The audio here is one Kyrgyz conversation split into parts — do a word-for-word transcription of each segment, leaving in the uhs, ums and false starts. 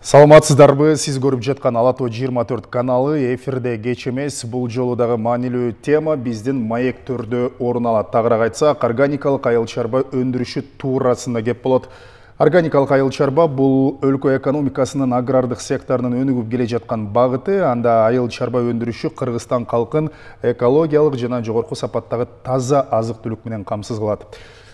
Саламатсыздарбы, сиз көрүп жаткан Ала Тоо жыйырма төрт каналы эфирде кеч эмес. Бул жолу дагы маанилүү тема биздин маек төрдө орун алат. Тагыраак айтсак, органикалык айыл чарба өндүрүшү туурасында кеп болот. Органикалык айыл чарба бул өлкө экономикасынын агрардык секторунун өнүгүп келе жаткан багыты. Анда айыл чарба өндүрүшү Кыргызстан калкын экологиялык жана жогорку сапаттагы таза азык-түлүк менен камсыз кылат.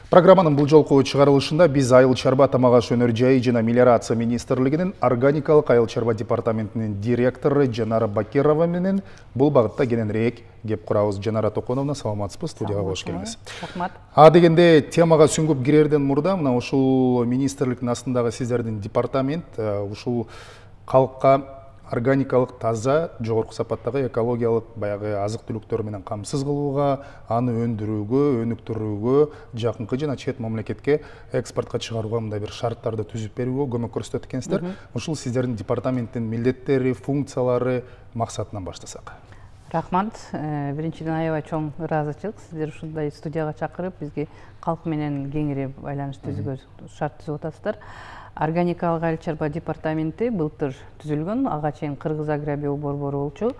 Программанын бул жолку чыгарылышында биз айыл чарба, тамак аш өнөр жайы жана мелиорация министрлигинин органикалык айыл чарба департаментинин директору Жанара Бакирова менен бул багытта кененирээк кеп курабыз. Жанара Токоновна, саламатсызбы? Студияга кош келиңиз. Рахмат. А дегенде темага сүңгүп кирерден мурда мына ушул министрликтин астындагы сиздердин департамент ушул калкка органикалык таза жогорку сапаттагы экологиялык баягы азык-түлүктөр менен камсыз кылууга, аны өндүрүүгө, өнүктүрүүгө, жакынкы жана чет мамлекетке экспортко чыгарууга мындай бир шарттарды түзүп берүүгө көмөк көрсөтөт экенсиздер. Ушул сиздердин департаменттин милдеттери, функциялары, максатынан баштасак. Рахмат. Биринчиден аябай чоң ыраазычылык сиздер ушундай студияга чакырып, бизге калк менен кеңири байланыш түзүүгө шарт түзүп атасыздар. Органикалык айыл чарба департаменти былтыр түзүлгөн, ага чейин Кыргыз Агробио борбору болчу.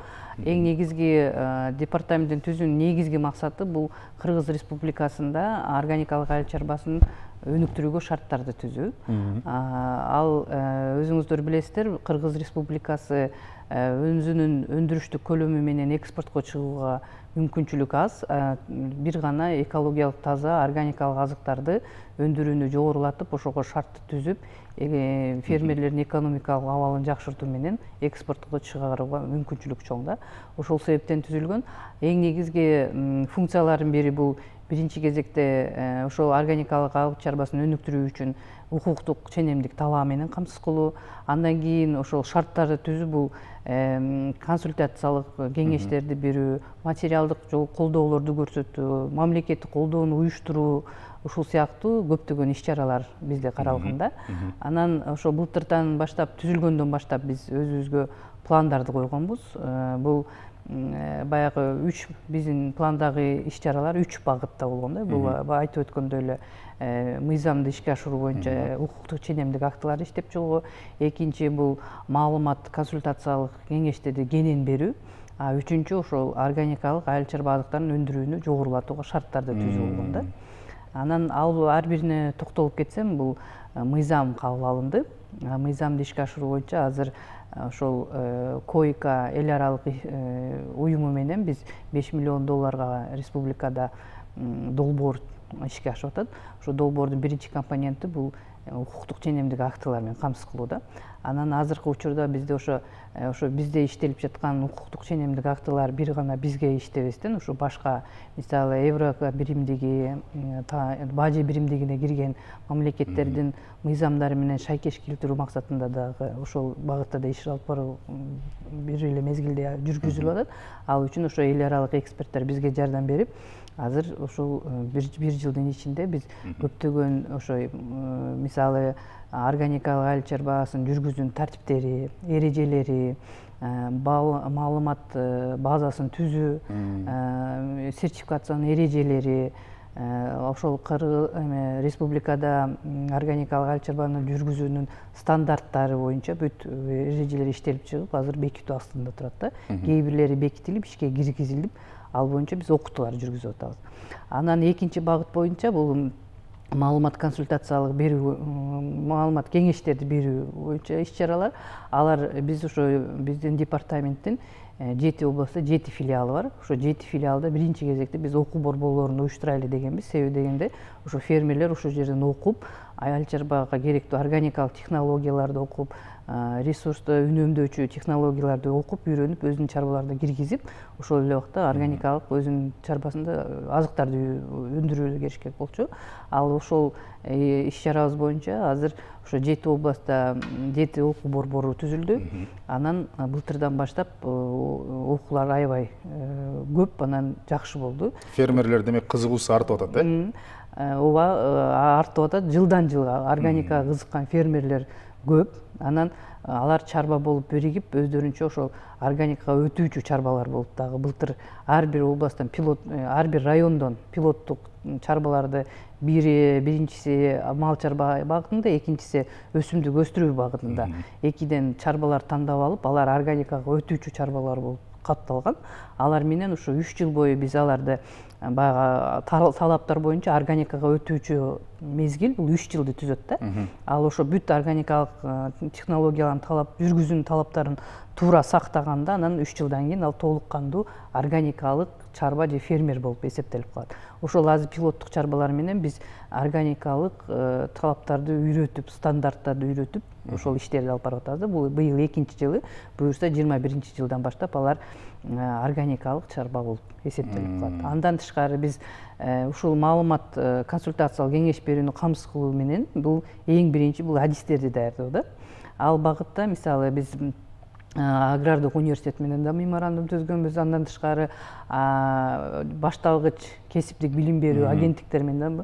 Эң негизги департаменттин түзүүнүн негизги максаты бул Кыргыз Республикасында органикалык айыл чарбасын өнүктүрүүгө шарттарды түзүү. Ал өзүңүздөр билесиздер, Кыргыз Республикасы өзүнүн өндүрүштүк көлөмү менен экспортко чыгууга мүмкүнчүлүк аз. Бир гана экологиялык таза органикалык азыктарды өндүрүүнү жогорулатып, ошого шартты түзүп, фермерлердин экономикалык абалын жакшыртуу менен экспортко чыгарууга мүмкүнчүлүк чоң да. Ошол себептен түзүлгөн. Эң негизги функциялардын бири бул биринчи кезекте ошол органикалык айыл чарбасын өнүктүрүү үчүн укуктук ченемдик талаа менен камсыз кылуу. Андан кийин ошол шарттарды түзүү бул консультациялык кеңештерди берүү, материалдык колдоолорду көрсөтүү, мамлекеттик колдоону уюштуруу, ушул сыяктуу көптөгөн иш-чаралар бизде каралган да. Анан ошо былтырдан баштап, түзүлгөндөн баштап биз өзүбүзгө пландарды койгонбуз. Бул баягы үч биздин пландагы иш-чаралар үч багытта болгон да. Бул айтып өткөндөй эле мыйзамды ишке ашыруу боюнча укуктук ченемдик актыларды иштеп чыгуу, экинчи бул маалымат консультациялык кеңештерди кенен берүү, а үчүнчү ошол органикалык айыл чарба азыктарын өндүрүүнү жогорулатууга шарттарды түзүү болгон да. Анан ал ар бирине токтолуп кетсем, бул мыйзам кабыл алынды. Мыйзамды ишке ашыруу боюнча азыр ошол койка эл аралык уюму менен биз беш миллион долларга республикада долбоор ишке ашып атат. Ошо долбоордун биринчи компоненти бул укуктук ченемдик актылар менен камсыз кылууда. Анан азыркы учурда бизде ошо ошо бизде иштелип жаткан укуктук ченемдик актылар бир гана бизге иштебестен, ошо башка, мисалы Евроко биримдиги, Бажы биримдигине кирген мамлекеттердин мыйзамдары менен шайкеш келтирүү максатында дагы ошол багытта да иш алып баруу бир эле мезгилде жүргүзүлүп атат. Ал үчүн ошо эл аралык эксперттер бизге жардам берип, азыр ошол бир жылдын ичинде биз көптөгөн ошо мисалы органикалык айыл чарбасын жүргүзүүнүн тартиптери, эрежелери, маалымат базасын түзүү, сертификациянын эрежелери, ошол республикада органикалык айыл чарбаны жүргүзүүнүн стандарттары боюнча бүт эрежелер иштелип чыгып, азыр бекитүү астында турат да. Кээ бирлери бекитилип, ишке киргизилип, ал боюнча биз окутуулар жүргүзүп атабыз. Анан экинчи багыт боюнча бул маалымат консультациялык берүү, маалымат кеңештерди берүү боюнча иш-чаралар. Алар биз ошо биздин департаменттин жети областта жети филиалы бар. Ошо жети филиалда биринчи кезекте биз окуу борборлорун уюштурайлы дегенбиз. Себеби дегенде ошо фермерлер ошол жерден окуп, айыл чарбага керектүү органикалык технологияларды окуп, ресурсту үнөмдөөчү технологияларды окуп, үйрөнүп, өзүнүн чарбаларына киргизип, ошол эле убакта органикалык өзүнүн чарбасында азыктарды өндүрүүгө керишкен болчу. Ал ошол иш-чарабыз боюнча азыр ошо жети областта жети окуу борбору түзүлдү. Анан былтырдан баштап окуулар аябай көп, анан жакшы болду. Фермерлер демек кызыгуусу артып атат, э? Ооба, артып атат. Жылдан жылга органикага кызыккан фермерлер көп. Анан алар чарба болуп биригип өздөрүнчө ошол органикага өтүүчү чарбалар болуп дагы былтыр ар бир областтан пилот, ар бир райондон пилоттук чарбаларды бири биринчиси мал чарба багытында, экинчиси өсүмдүк өстүрүү багытында экиден чарбалар тандап алып, алар органикага өтүүчү чарбалар болуп катталган. Алар менен ушу үч жыл бою биз аларды баягы талаптар боюнча органикага өтүүчү мезгил бул үч жылды түзөт да. Ал ошо бүт органикалык технологиялардын талап, жүргүзүүнүн талаптарын туура сактаганда, анан үч жылдан кийин ал толук кандуу органикалык чарба же фермер болуп эсептелип калат. Ошол азыр пилоттук чарбалар менен биз органикалык талаптарды үйрөтүп, стандарттарды үйрөтүп, ошол иштерди алып барып атабыз. Бул быйыл экинчи жылы, буюрса жыйырма биринчи жылдан баштап алар органикалык чарба болуп эсептелип калат. Андан тышкары биз ушул маалымат консультациялык кеңеш берүүнү камсыз кылуу менен бул эң биринчи бул адистерди даярдоо да. Ал багытта мисалы биз агрардык университет менен да меморандум түзгөнбүз. Андан тышкары башталгыч кесиптик билим берүү агенттиктер менен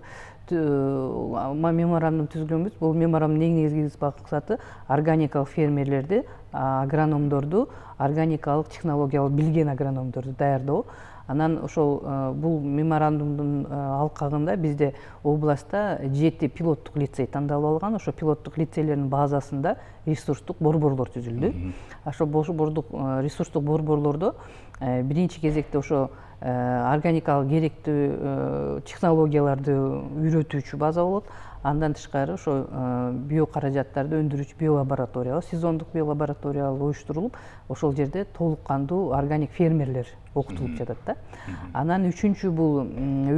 меморандум түзгөнбүз. Бул меморандумдун эң негизги максаты органикалык фермерлерди, агрономдорду, органикалык технологиялык билген агрономдорду даярдоо. Анан ошол бул меморандумдун алкагында бизде областта жети пилоттук лицей тандалып алган. Ошо пилоттук лицейлердин базасында ресурстук борборлор түзүлдү. Ошо борбордук ресурстук борборлордо биринчи кезекте ошо органикалык керектүү технологияларды үйрөтүүчү база болот. Андан тышкары ошо био каражаттарды өндүрүүчү биолабораториялар, сезондук биолабораториялар уюштурулуп, ошол жерде толук кандуу органик фермерлер окутулуп жатат да. Анан үчүнчү бул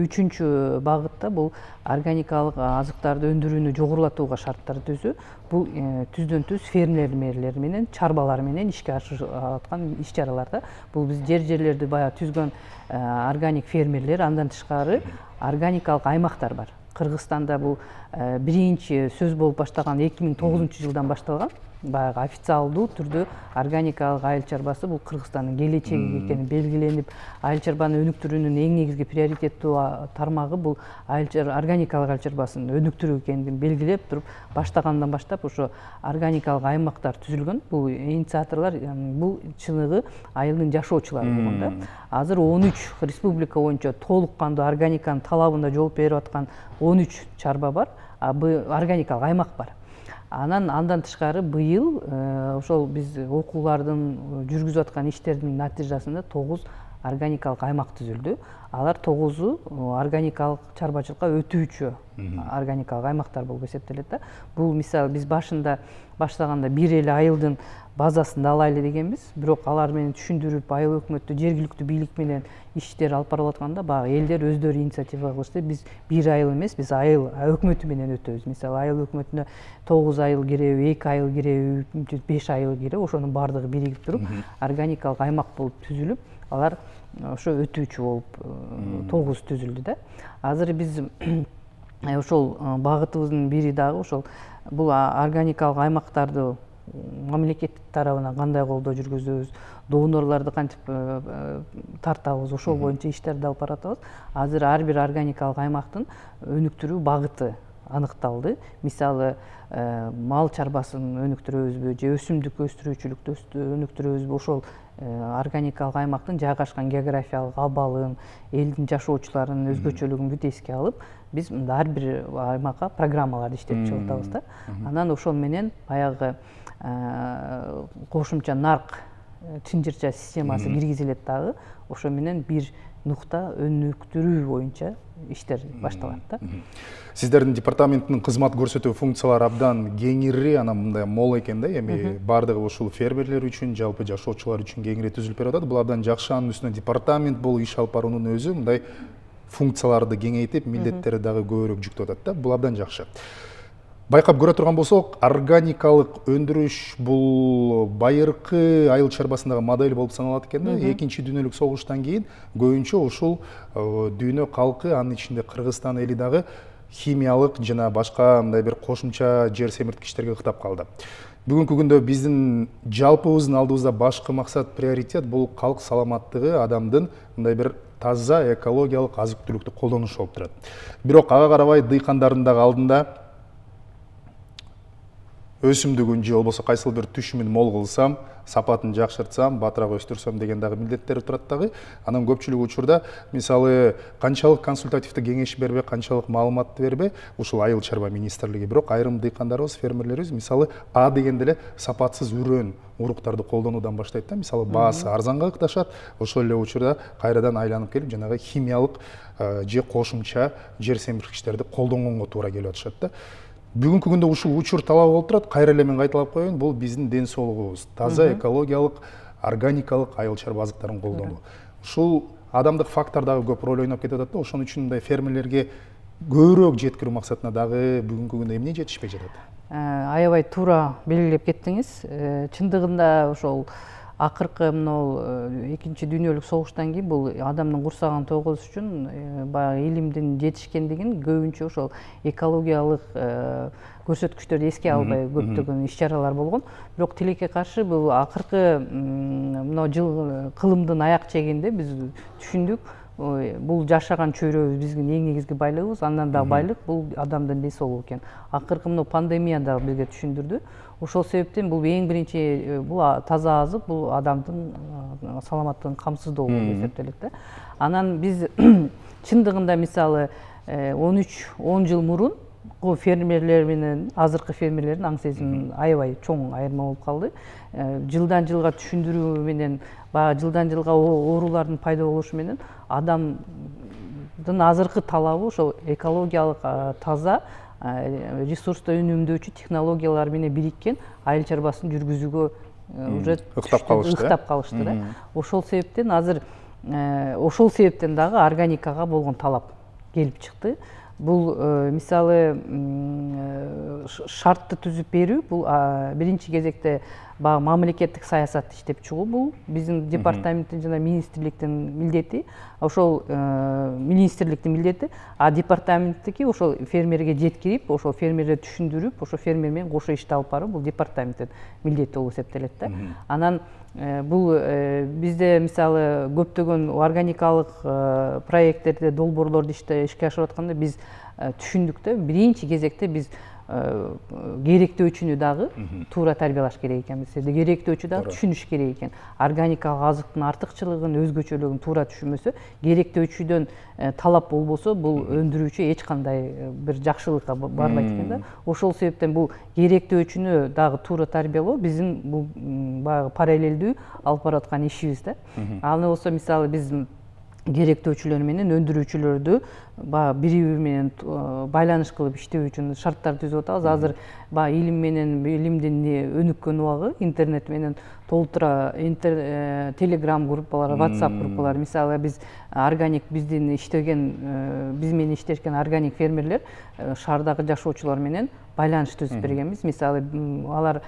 үчүнчү багытта бул органикалык азыктарды өндүрүүнү жогорулатууга шарттар түзүү. Бул түздөн түз фермерлер менен, чарбалар менен ишке ашырылып аткан иш-чаралар да. Бул биз жер-жерлерди баягы түзгөн органик фермерлер, андан тышкары органикалык аймактар бар. Кыргызстанда бул биринчи сөз болуп баштаган эки миң тогузунчу жылдан башталган. Баягы официалдуу түрдө органикалык айыл чарбасы бул Кыргызстандын келечеги экени белгиленип, айыл чарбаны өнүктүрүүнүн эң негизги приоритеттүү тармагы бул органикалык айыл чарбасын өнүктүрүү экенин белгилеп туруп, баштагандан баштап ошо органикалык аймактар түзүлгөн. Бул инициаторлор бул чыныгы айылдын жашоочулары болгон да. Азыр он үч республика боюнча толук кандуу органиканын талабына жооп берип аткан он үч чарба бар, органикалык аймак бар. Анан андан тышкары быйыл ошол биз окуулардын жүргүзүп аткан иштердин натыйжасында тогуз органикалык аймак түзүлдү. Алар тогузу органикалык чарбачылыкка өтүүчү органикалык аймактар болуп эсептелет да. Бул мисалы биз башында баштаганда бир эле айылдын базасында алайлы дегенбиз, бирок алар менен түшүндүрүп, айыл өкмөттү, жергиликтүү бийлик менен иштер алып барып атканда баягы элдер өздөрү инициатива кылышты. Биз бир айыл эмес, биз айыл өкмөтү менен өтөбүз. Мисалы айыл өкмөтүнө тогуз айыл киреби, эки айыл киреби, беш айыл киреби, ошонун баардыгы биригип туруп органикалык аймак болуп түзүлүп, алар ошо өтүүчү болуп тогуз түзүлдү да. Азыр биз ошол багытыбыздын бири дагы ошол бул органикалык аймактарды мамлекет тарабынан кандай колдоо жүргүзөбүз, донорлорду кантип тартабыз, ошол боюнча иштерди алып баратабыз. Азыр ар бир органикалык аймактын өнүктүрүү багыты аныкталды. Мисалы мал чарбасын өнүктүрөбүзбү же өсүмдүк өстүрүүчүлүктү өнүктүрөбүзбү, ошол органикалык аймактын жайгашкан географиялык абалын, элдин жашоочуларынын өзгөчөлүгүн бүт эске алып, биз мында ар бир аймакка программаларды иштеп чыгып атабыз да. Анан ошол менен баягы кошумча нарк чынжырча системасы киргизилет дагы. Ошо менен бир нукта өнүктүрүү боюнча иштер башталат да. Сиздердин департаменттин кызмат көрсөтүү функциялары абдан кеңири, анан мындай мол экен да. Эми бардыгы ушул фермерлер үчүн, жалпы жашоочулар үчүн кеңири түзүлүп берип атат. Бул абдан жакшы. Анын үстүнө департамент болуп иш алып баруунун өзү мындай функцияларды кеңейтип, милдеттери дагы көбүрөөк жүктөп атат да. Бул абдан жакшы. Байкап көрө турган болсок, органикалык өндүрүш бул байыркы айыл чарбасындагы модель болуп саналат экен да. Экинчи дүйнөлүк согуштан кийин көбүнчө ушул дүйнө калкы, анын ичинде Кыргызстан эли дагы химиялык жана башка мындай бир кошумча жер семирткичтерге ыктап калды. Бүгүнкү күндө биздин жалпыбыздын алдыбызда башкы максат, приоритет бул калк саламаттыгы, адамдын мындай бир таза экологиялык азык-түлүктү колдонушу болуп турат. Бирок ага карабай дыйкандардын дагы алдында өсүмдүгүн же болбосо кайсыл бир түшүмүн мол кылсам, сапатын жакшыртсам, батыраак өстүрсөм деген дагы милдеттери турат дагы. Анан көпчүлүк учурда мисалы канчалык консультативдик кеңеш бербей, канчалык маалыматты бербей, ушул айыл чарба министрлиги, бирок айрым дыйкандарыбыз, фермерлерибиз мисалы А дегенде эле сапатсыз үрөн уруктарды колдонуудан баштайт да. Мисалы баасы арзанга ыкташат, ошол эле учурда кайрадан айланып келип, жанагы химиялык же кошумча жер семирткичтерди колдонгонго туура келип атышат да. Бүгүнкү күндө ушул учур талап болуп турат. Кайра эле мен кайталап коеюн, бул биздин ден соолугубуз, таза экологиялык, органикалык айыл чарба азыктарын колдонуу. Ушул адамдык фактор дагы көп роль ойноп кетип атат да. Ошон үчүн мындай фермерлерге көбүрөөк жеткирүү максатында дагы бүгүнкү күндө эмне жетишпей жатат? Аябай туура белгилеп кеттиңиз. Чындыгында ошол акыркы мынау экинчи дүйнөлүк согуштан кийин бул адамдын курсагын толгозуш үчүн баягы илимдин жетишкендигин көбүнчө ошол экологиялык көрсөткүчтөрдү эске албай көптөгөн иш чаралар болгон. Бирок тилекке каршы бул акыркы мынау жыл кылымдын аяк чегинде биз түшүндүк, бул жашаган чөйрөбүз биздин эң негизги байлыгыбыз, андан да байлык бул адамдын ден соолугу экен. Акыркы мына пандемия да бизге түшүндүрдү. Ошол себептен бул эң биринчи бул таза азык, бул адамдын саламаттыгын камсыздоо болуп эсептелет да. Анан биз чындыгында мисалы он үч он жыл мурун фермерлер менен азыркы фермерлердин аң сезими аябай чоң айырма болуп калды. Жылдан жылга түшүндүрүү менен, баягы жылдан жылга оорулардын пайда болушу менен адамдын азыркы талабы ошол экологиялык таза ресурсту үнөмдөөчү технологиялар менен бириккен айыл чарбасын жүргүзүүгө уже ыктап калышты. Ыктап калышты да. Ошол себептен азыр ошол себептен дагы органикага болгон талап келип чыкты. Бул мисалы шартты түзүп берүү, бул биринчи кезекте баягы мамлекеттик саясатты иштеп чыгуу, бул биздин департаменттин жана министрликтин милдети, ошол министрликтин милдети, а департаменттики ошол фермерге жеткирип, ошол фермерди түшүндүрүп, ошол фермер менен кошо ишти алып баруу, бул департаменттин милдети болуп эсептелет да. Анан бул бизде мисалы көптөгөн органикалык проекттерди, долбоорлорду иште ишке ашырып атканда биз түшүндүк да, биринчи кезекте биз керектөөчүнү дагы туура тарбиялаш керек экенбиз. Керектөөчү дагы түшүнүш керек экен. Органикалык азыктын артыкчылыгын, өзгөчөлүгүн туура түшүнмөсө, керектөөчүдөн талап болбосо, бул өндүрүүчү эч кандай бир жакшылыкка барбайт экен да. Ошол себептен бул керектөөчүнү дагы туура тарбиялоо биздин бул баягы параллелдүү алып бараткан ишибиз да. Ал болсо мисалы биз керектөөчүлөр менен өндүрүүчүлөрдү баягы бири бири менен байланыш кылып иштөө үчүн шарттар түзүп атабыз. Азыр баягы илим менен илимдин өнүккөн убагы, интернет менен толтура телеграм группалары, WhatsApp группалары, мисалы биз органик биздин иштеген биз менен иштешкен органик фермерлер шаардагы жашоочулар менен байланыш түзүп бергенбиз. Мисалы алар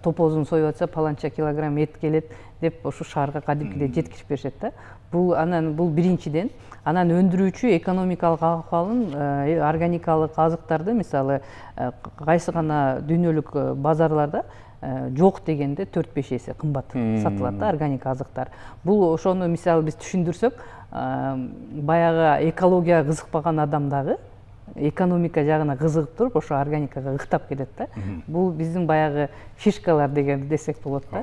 топозун союп атса, паланча килограмм эт келет деп ошо шаарга кадимкидей жеткирип беришет да. Бул анан бул биринчиден, анан өндүрүүчү экономикалык акыбалын органикалык азыктарды мисалы кайсы гана дүйнөлүк базарларда жок дегенде төрт беш эсе кымбат сатылат да органик азыктар. Бул ошону мисалы биз түшүндүрсөк, баягы экологияга кызыкпаган адам дагы экономика жагына кызыгып туруп ошо органикага ыктап кетет да. Бул биздин баягы фишкалар деген десек болот да.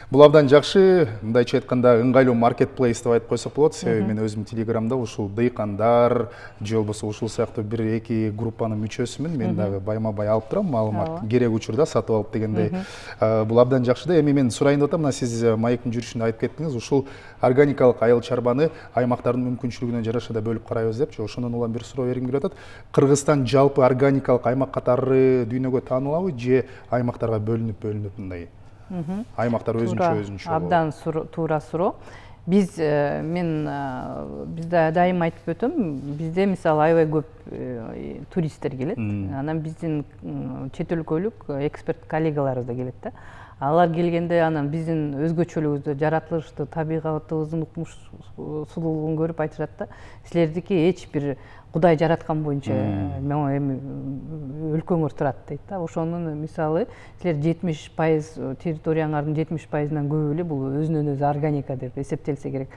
Бул абдан жакшы, мындайча айтканда ыңгайлуу маркетплейс деп айтып койсок болот. Себеби мен өзүм телеграмда ушул дыйкандар же болбосо ушул сыяктуу бир эки группанын мүчөсүмүн. Мен дагы байма-бай алып турам маалымат, керек учурда сатып алып дегендей. Бул абдан жакшы да. Эми мен сурайын деп атам, мына сиз маектин жүрүшүндө айтып кеттиңиз, ушул органикалык айыл чарбаны аймактардын мүмкүнчүлүгүнө жараша да бөлүп карайбыз депчи. Ошондон улам бир суроо бергим келип атат. Кыргызстан жалпы органикалык аймак катары дүйнөгө таанылабы же аймактарга бөлүнүп бөлүнүп мындай? Аймактар өзүнчө өзүнчө. Абдан туура суроо. Биз мен бизде дайыма айтып өтөм, бизде мисалы аябай көп туристтер келет. Анан биздин чет өлкөлүк эксперт коллегаларыбыз да келет да. Алар келгенде анан биздин өзгөчөлүгүбүздү, жаратылышты, табигатыбыздын укмуш сулуулугун көрүп айтышат да. Силердики эч бир Кудай жараткан боюнча эми өлкөңөр турат дейт да. Ошонун мисалы силер жетимиш пайыз территорияңардын жетимиш пайызынан көбү эле бул өзүнөн өзү органика деп эсептелсе керек.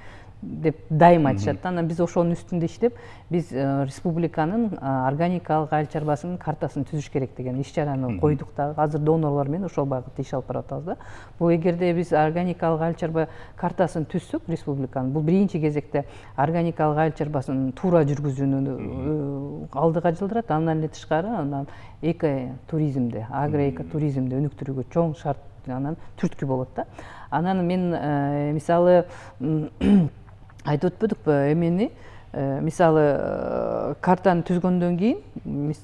деп дайым айтышат да. Анан биз ошонун үстүндө иштеп, биз республиканын органикалык айыл чарбасынын картасын түзүш керек деген иш чараны койдук да. Азыр донорлор менен ошол багытта иш алып баратабыз да. Бул эгерде биз органикалык айыл чарба картасын түзсөк республиканын, бул биринчи кезекте органикалык айыл чарбасын туура жүргүзүүнү алдыга жылдырат. Андан эле тышкары анан эко туризмди, агроэко туризмди өнүктүрүүгө чоң шарт, анан түрткү болот да. Анан мен мисалы айтып өтпөдүкпү эмени, мисалы картаны түзгөндөн кийин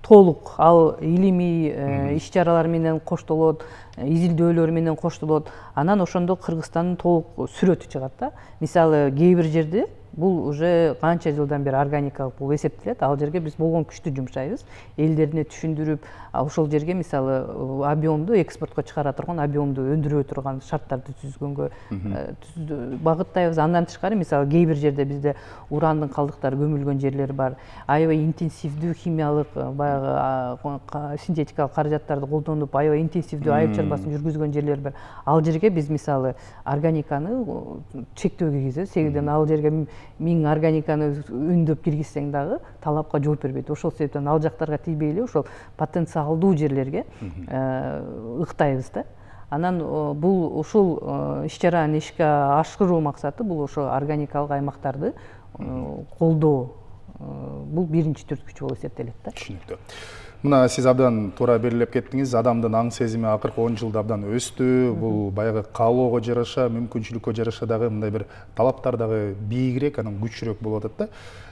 толук ал илимий иш чаралар менен коштолот, изилдөөлөр менен коштолот. Анан ошондо Кыргызстандын толук сүрөтү чыгат да. Мисалы кээ бир жерде бул уже канча жылдан бери органикалык бул эсептелет. Ал жерге биз болгон күчтү жумшайбыз. Элдерине түшүндүрүп, ошол жерге мисалы объемду экспортко чыгара турган, объемду өндүрө турган шарттарды түзгөнгө багыттайбыз. Андан тышкары мисалы кээ бир жерде бизде урандын калдыктары көмүлгөн жерлер бар. Аябай интенсивдүү химиялык баягы синтетикалык каражаттарды колдонуп, аябай интенсивдүү айыл чарбасын жүргүзгөн жерлер бар. Ал жерге биз мисалы органиканы чектөө киргизебиз. Себебин ал жерге миң органиканы үндөп киргизсең дагы талапка жооп бербейт. Ошол себептен ал жактарга тийбей эле ошол потенциалдуу жерлерге ыктайбыз да. Анан бул ушул иш чаранын ишке ашыруу максаты бул ошо органикалык аймактарды колдоо. Бул биринчи түрткүчү болуп эсептелет да. Түшүнүктүү. Мына сиз абдан туура белгилеп кеттиңиз. Адамдын аң сезими акыркы он жылда абдан өстү. Бул баягы каалоого жараша, мүмкүнчүлүккө жараша дагы мындай бир талаптар дагы бийигирээк, анан күчүрөөк болуп атат да.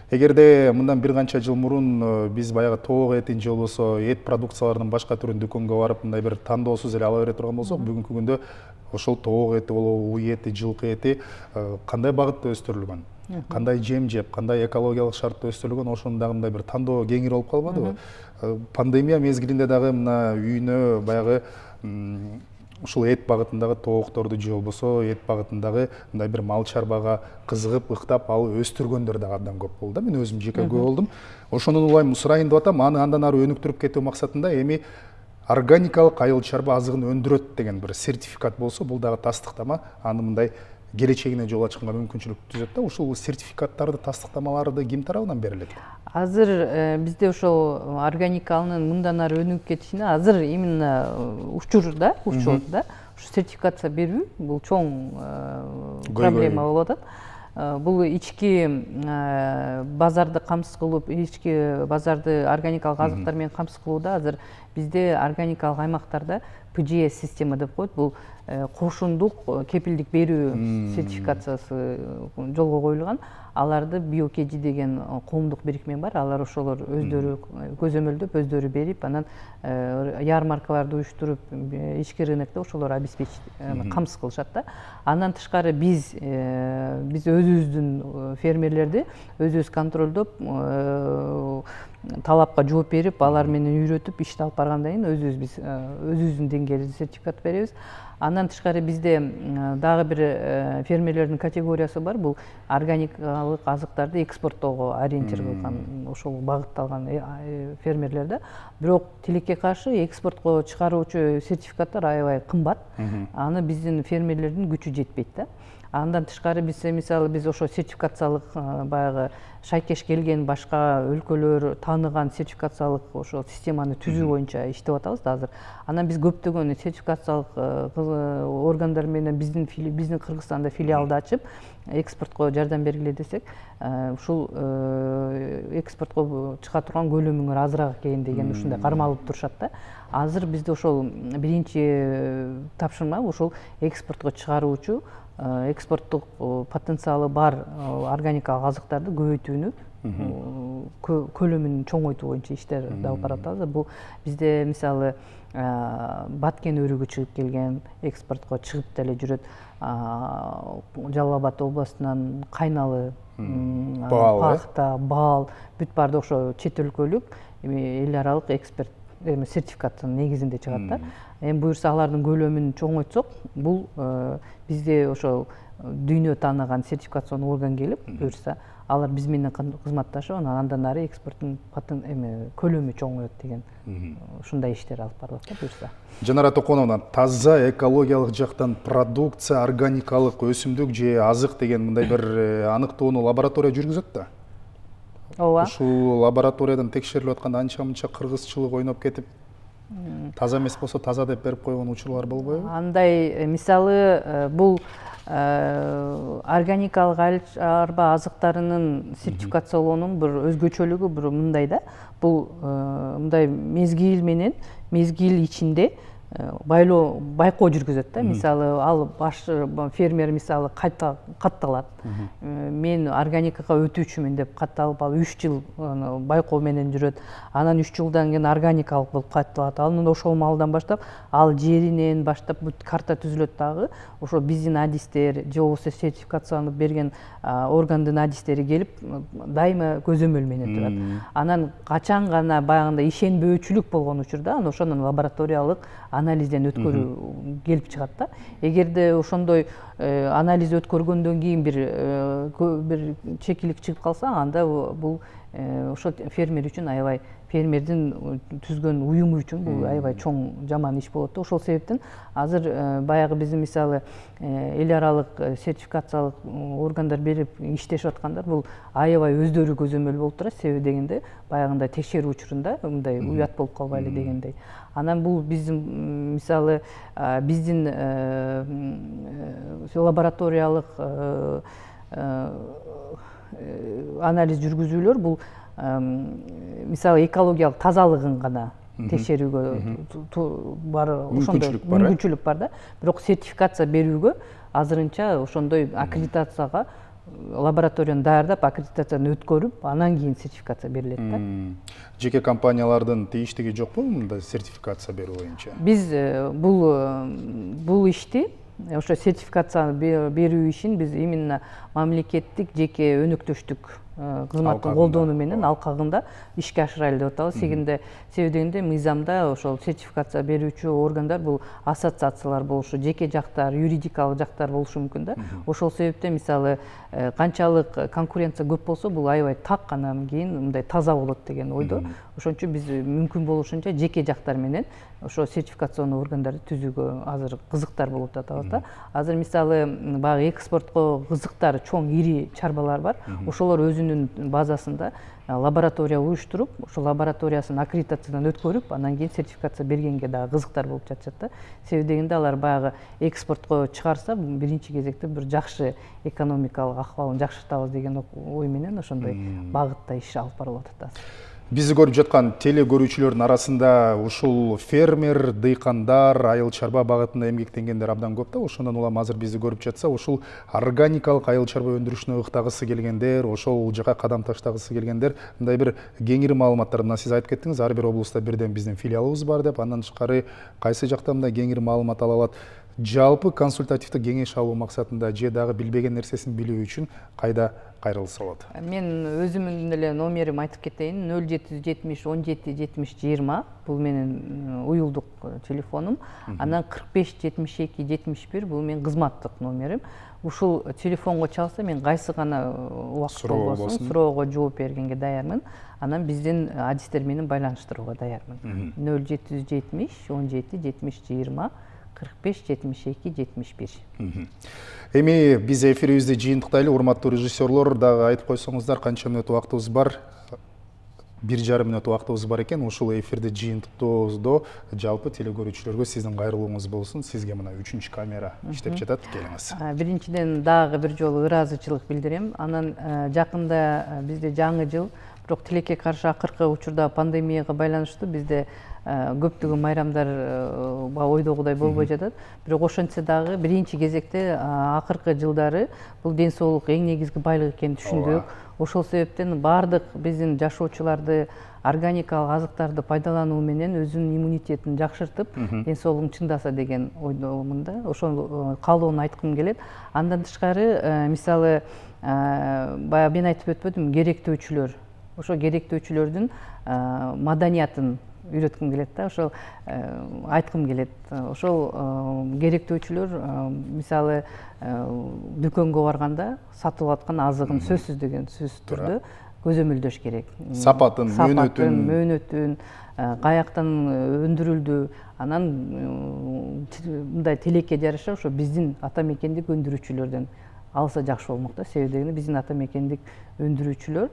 Эгерде мындан бир канча жыл мурун биз баягы тоок этин же болбосо эт продукцияларынын башка түрүн дүкөнгө барып мындай бир тандоосуз эле ала бере турган болсок, бүгүнкү күндө ошол тоок эти болобу, уй эти, жылкы эти кандай багытта өстүрүлгөн? Кандай жем жеп, кандай экологиялык шартта өстүрүлгөн, ошонун дагы мындай бир тандоо кеңири болуп калбадыбы? Пандемия мезгилинде дагы мына үйүнө баягы ушул эт багытындагы тоокторду же болбосо эт багытындагы мындай бир мал чарбага кызыгып, ыктап, ал өстүргөндөр дагы абдан көп болду да. Мен өзүм жеке күбө болдум. Ошонун улайым сурайын деп атам, аны андан ары өнүктүрүп кетүү максатында эми органикалык айыл чарба азыгын өндүрөт деген бир сертификат болсо, бул дагы тастыктама аны мындай келечегине жол ачканга мүмкүнчүлүк түзөт да. Ушул сертификаттарды, тастыктамаларды ким тарабынан берилет? Азыр бизде ошол органикалынын мындан ары өнүгүп кетишине азыр именно учурда, учурда ушу сертификация берүү бул чоң проблема болуп атат. Бул ички базарды камсыз кылып, ички базарды органикалык азыктар менен камсыз кылууда азыр бизде органикалык аймактарда пэ жэ эс система деп коет. Бул кошундук кепилдик берүү сертификациясы жолго коюлган. Аларды биокеди деген коомдук бирикме бар. Алар ошолор өздөрү көзөмөлдөп, өздөрү берип, анан ярмаркаларды уюштуруп, ички рынокто ошолор обеспечить камсыз кылышат да. Андан тышкары биз биз өзүбүздүн фермерлерди өзүбүз контролдоп, талапка жооп берип, алар менен үйрөтүп, ишти алып баргандан кийин өзүбүз биз өзүбүздүн деңгээлде сертификат беребиз. Андан тышкары бизде дагы бир фермерлердин категориясы бар. Бул органикалык азыктарды экспорттоого ориентир кылган, ошол багытталган фермерлер да. Бирок тилекке каршы экспортко чыгаруучу сертификаттар аябай кымбат. Аны биздин фермерлердин күчү жетпейт да. Андан тышкары биз мисалы биз ошо сертификациялык баягы шайкеш келген башка өлкөлөр тааныган сертификациялык ошо системаны түзүү боюнча иштеп атабыз да азыр. Анан биз көптөгөн сертификациялык органдар менен биздин биздин Кыргызстанда филиалды ачып, экспортко жардам бергиле десек, ушул экспортко чыга турган көлөмүңөр азыраак экен деген ушундай кармалып турушат да. Азыр бизде ошол биринчи тапшырма ошол экспортко чыгаруучу экспорттук потенциалы бар органикалык азыктарды көбөйтүүнү, көлөмүн чоңойтуу боюнча иштер алып баратабыз. Бул бизде мисалы Баткен өрүгү чыгып келген, экспортко чыгып деле жүрөт. Жалал Абад областынан Кайналы, Пахта, Баал, бүт баарды ошо чет өлкөлүк эл аралык эксперт сертификаттын негизинде чыгат да. Эми буюрса алардын көлөмүн чоңойтсок, бул бизде ошол дүйнө тааныган сертификацион орган келип буюрса, алар биз менен кызматташып, анан андан ары экспорттун эме көлөмү чоңоет деген ушундай иштер алып барылат да буюрса. Жанара Токоновна, таза экологиялык жактан продукция, органикалык өсүмдүк же азык деген мындай бир аныктоону лаборатория жүргүзөт да. Ооба. Ушул лабораториядан текшерилип атканда анча-мынча кыргызчылык ойноп кетип, таза эмес болсо таза деп берип койгон учурлар болбойбу? Андай, мисалы, бул органикалык айыл чарба азыктарынын сертификациялоонун бир өзгөчөлүгү бир мындай да. Бул мындай мезгил менен, мезгил ичинде байлоо, байкоо жүргүзөт да. Мисалы, ал баш фермер мисалы катталат. Мен органикага өтүүчүмүн деп катталып, ал үч жыл байкоо менен жүрөт. Анан үч жылдан кийин органикалык болуп катталат. Анан ошол маалдан баштап ал жеринен баштап бүт карта түзүлөт дагы. Ошо биздин адистер же болбосо сертификацияланып берген органдын адистери келип дайыма көзөмөл менен турат. Анан качан гана баягындай ишенбөөчүлүк болгон учурда анан ошонун лабораториялык анализден өткөрүү келип чыгат да. Эгерде ошондой анализ өткөргөндөн кийин бир бир чекилик чыгып калса, анда бул ошо фермер үчүн аябай, фермердин түзгөн уюму үчүн бул аябай чоң жаман иш болот да. Ошол себептен азыр баягы биздин мисалы эл аралык сертификациялык органдар берип иштешип аткандар бул аябай өздөрү көзөмөл болуп турат. Себеби дегенде баягындай текшерүү учурунда мындай уят болуп калбайлы дегендей. Анан бул биздин мисалы биздин лабораториялык анализ жүргүзүүлөр бул мисалы экологиялык тазалыгын гана текшерүүгө бар, ошондой мүмкүнчүлүк бар да. Бирок сертификация берүүгө азырынча ошондой аккредитацияга лабораторияны даярдап, аккредитацияны өткөрүп, анан кийин сертификация берилет да. Жеке компаниялардын тийиштиги жокпу мындай сертификация берүү боюнча? Биз бул бул ишти, ошо сертификация берүү ишин биз именно мамлекеттик жеке өнөктөштүк кызматтын колдонуу менен алкагында ишке ашырайлы деп атабыз. Сегинде себеби дегенде мыйзамда ошол сертификация берүүчү органдар бул ассоциациялар болушу, жеке жактар, юридикалык жактар болушу мүмкүн да. Ошол себептен мисалы канчалык конкуренция көп болсо, бул аябай так, анан кийин мындай таза болот деген ойдо. Ошон үчүн биз мүмкүн болушунча жеке жактар менен ошо сертификационный органдарды түзүүгө азыр кызыктар болуп атабыз да. Азыр мисалы баягы экспортко кызыктар чоң ири чарбалар бар. Ошолор өзүнүн базасында лаборатория уюштуруп, ошо лабораториясын аккредитациядан өткөрүп, анан кийин сертификация бергенге дагы кызыктар болуп жатышат да. Себеби дегенде алар баягы экспортко чыгарса, биринчи кезекте бир жакшы экономикалык акыбалын жакшыртабыз деген ой менен ошондой багытта иш алып барылып атат. Бизди көрүп жаткан теле көрүүчүлөрдүн арасында ушул фермер, дыйкандар, айыл чарба багытында эмгектенгендер абдан көп да. Ошондон улам азыр бизди көрүп жатса, ушул органикалык айыл чарба өндүрүшүнө ыктагысы келгендер, ошол жака кадам таштагысы келгендер, мындай бир кеңири маалыматтар, мына сиз айтып кеттиңиз, ар бир облустта бирден биздин филиалыбыз бар деп, андан тышкары кайсы жакта мындай кеңири маалымат ала алат. Жалпы консультативдик кеңеш алуу максатында же дагы билбеген нерсесин билүү үчүн кайда кайрылса болот? Мен өзүмдүн эле номерим айтып кетейин. нөл жети жүз жетимиш он жети жетимиш жыйырма бул менин уюлдук телефонум. Анан кырк беш жетимиш эки жетимиш бир бул менин кызматтык номерим. Ушул телефонго чалса, мен кайсы гана убакыт болбосун суроого жооп бергенге даярмын. Анан биздин адистер менен байланыштырууга даярмын. нөл жети жүз жетимиш он жети жетимиш жыйырма кырк беш жетимиш эки жетимиш бир. Эми биз эфирибизди жыйынтыктайлы, урматтуу режиссерлор, дагы айтып койсоңуздар, канча мүнөт убактыбыз бар? Бир жарым мүнөт убактыбыз бар экен. Ушул эфирди жыйынтыктоодо жалпы теле көрүүчүлөргө сиздин кайрылууңуз болсун. Сизге мына үчүнчү камера иштеп жатат, келиңиз. Биринчиден дагы бир жолу ыраазычылык билдирем. Анан жакында бизде жаңы жыл, бирок тилекке каршы акыркы учурда пандемияга байланыштуу бизде көптөгөн майрамдар ойдогудай болбой жатат. Бирок ошентсе дагы биринчи кезекте акыркы жылдары бул ден соолук эң негизги байлык экенин түшүндүк. Ошол себептен бардык биздин жашоочуларды органикалык азыктарды пайдалануу менен өзүнүн иммунитетин жакшыртып, ден соолугун чыңдаса деген ойдомун да. Ошол каалоону айткым келет. Андан тышкары, мисалы, баягы мен айтып өтпөдүм, керектөөчүлөр. Ошо керектөөчүлөрдүн маданиятын үйрөткүм келет да, ошол айткым келет. Ошол керектөөчүлөр мисалы дүкөнгө барганда сатып аткан азыгын сөзсүз деген сөзсүз түрдө көзөмөлдөш керек. Сапатын, мөөнөтүн, мөөнөтүн, каяктан өндүрүлдү, анан мындай тилекке жараша ошо биздин ата мекендик өндүрүүчүлөрдөн алса жакшы болмок да. Себеби дегенде биздин ата мекендик өндүрүүчүлөр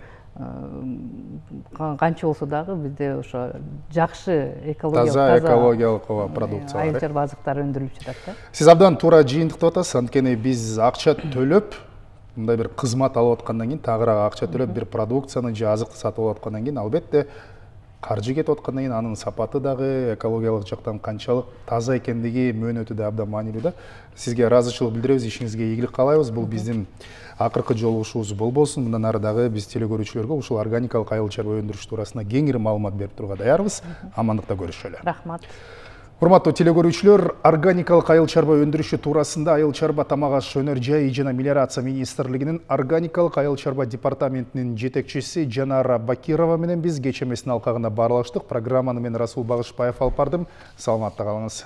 канча болсо дагы бизде ошо жакшы экологиялык таза экологиялык продукция бар. Айыл чарба азыктары өндүрүлүп жатат да. Сиз абдан туура жыйынтыктап атасыз. Анткени биз акча төлөп, мындай бир кызмат алып аткандан кийин, тагыраак акча төлөп бир продукцияны же азыкты сатып алып аткандан кийин, албетте каржы кетип аткандан кийин анын сапаты дагы экологиялык жактан канчалык таза экендиги, мөөнөтү да абдан маанилүү да. Сизге ыраазычылык билдиребиз, ишиңизге ийгилик каалайбыз. Бул биздин акыркы жолугушуубуз болбосун. Мындан ары дагы биз телекөрүүчүлөргө ушул органикалык айыл чарба өндүрүш туурасында кеңири маалымат берип турууга даярбыз. Амандыкта көрүшөлү. Рахмат. Урматтуу телекөрүүчүлөр, органикалык айыл чарба өндүрүшү туурасында Айыл чарба, тамак аш, өнөр жай жана мелиорация министрлигинин органикалык айыл чарба департаментинин жетекчиси Жанара Бакирова менен биз кечээ эместин алкагында баарлаштык. Программаны мен Расул Багышбаев алып бардым. Саламатта калыңыз.